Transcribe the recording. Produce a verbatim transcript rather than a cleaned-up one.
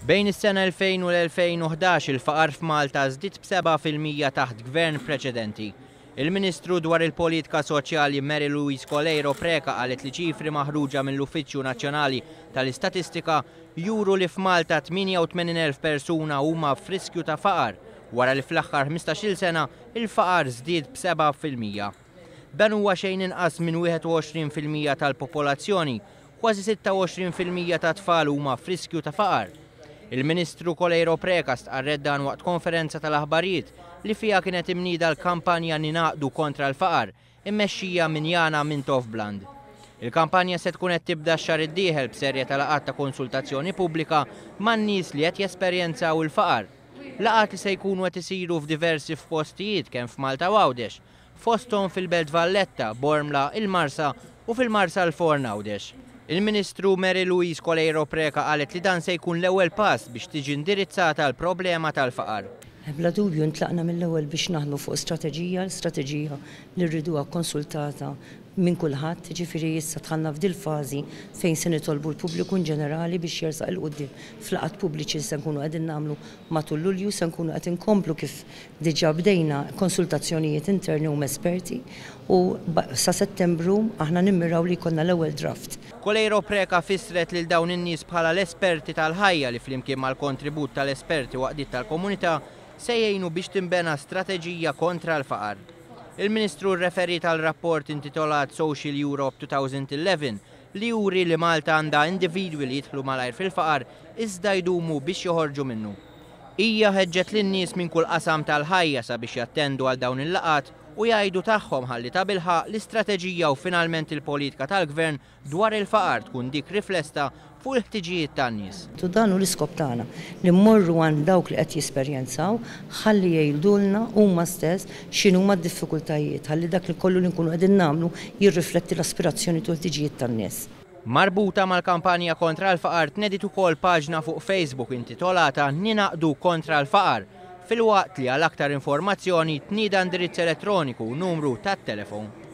Bejn is-sena elfejn u l-elfejn u ħdax il-faqar f'Malta żdied b'seba' fil-mija taħt gvern preċedenti. Il-Ministru dwar il-Politika Soċjali Mary Louise Coleiro Preca qalet li ċifri maħruġa mill-Uffiċċju Nazzjonali tal-Istatistika juru li f'Malta tmienja u tmenin elf persuna huma f'riskju ta' faqar, wara li fl-aħħar ħmistax-il sena il-faqar żdied b'seba' fil-mija. Dan huwa xejn inqas minn wieħed u għoxrin fil-mija tal-popolazzjoni, kważi sitta u għoxrin fil-mija ta' tfal huma f'riskju ta' faqar. Il-Ministru Coleiro Preca stqarret dan waqt konferenza tal-aħbarijiet li fiha kienet imnida l-kampanja Ninaqdu kontra l-faqar, immexxija minn Jana Mintoff Bland. Il-kampanja se tkun qed tibda x-xahar id-dieħel b'serje ta' laqgħat ta' konsultazzjoni pubblika man-nies li qed jesperjenzaw il-faqar. Laqgħat li se jkunu qed isiru f'diversi f'postijiet kemm f'Malta u Għawdex, fosthom fil-Belt Valletta, Bormla, il-Marsa u fil-Marsa l-Forn Għawdex. Il-Ministru Mary Louise Coleiro Preca qalet li dan se jkun l-ewwel pass biex tiġi indirizzata l-problema tal-faqar. Bla dubju ntlaqna mill-ewwel biex naħdmu fuq strateġija, l-strateġija li rriduha konsultata minn kulħadd, jiġifieri issa dħalna f'dil fażi fejn se nitolbu l-pubbliku in ġenerali biex jersaq il quddiem f'laqgħat pubbliċi li se nkunu qegħdin nagħmlu matul Lulju, se nkunu qed inkomplu kif diġà bdejna konsultazzjonijiet interni u esperti u ba-, sa Settembru aħna nimmiraw li jkollna l-ewwel draft. Coleiro Preca fissret lil dawn in-nies bħala l-esperti tal-ħajja li flimkien mal-kontribut tal-esperti waqdiet tal-komunità se jgħinu biex tinbena strateġija kontra l-faqar. Il-Ministru rreferit għal rapport intitolat Social Europe two thousand eleven li juri li Malta għandha individwi li jidħlu malajr fil-faqar iżda jdumu biex joħorġu minnu. Hija ħeġġet lin-nies minn kull qasam tal-ħajja sabiex jattendu għal dawn il-laqgħat u jgħidu tagħhom ħalli tabilħaq l-istrateġija u finalment il-politika tal-gvern dwar il-faqar tkun dik riflesta fuq il-ħtiġijiet tan-nies. U dan hu l-iskop tagħna li mmorru għand dawk li qed jesperjenzaw ħalli jgħidulna huma stess x'inhuma d-diffikultajiet, ħalli dak li kollu li nkunu qegħdin nagħmlu jirrifletti l-aspirazzjoni u l-ħtiġijiet tan-nies. Marbuta mal-kampanja kontra l-faqar tnediet ukoll paġna fuq Facebook intitolata Ninaqdu kontra l-faqar, filwaqt li għal aktar informazzjoni tnieda indirizz elettroniku u numru tat-telefon.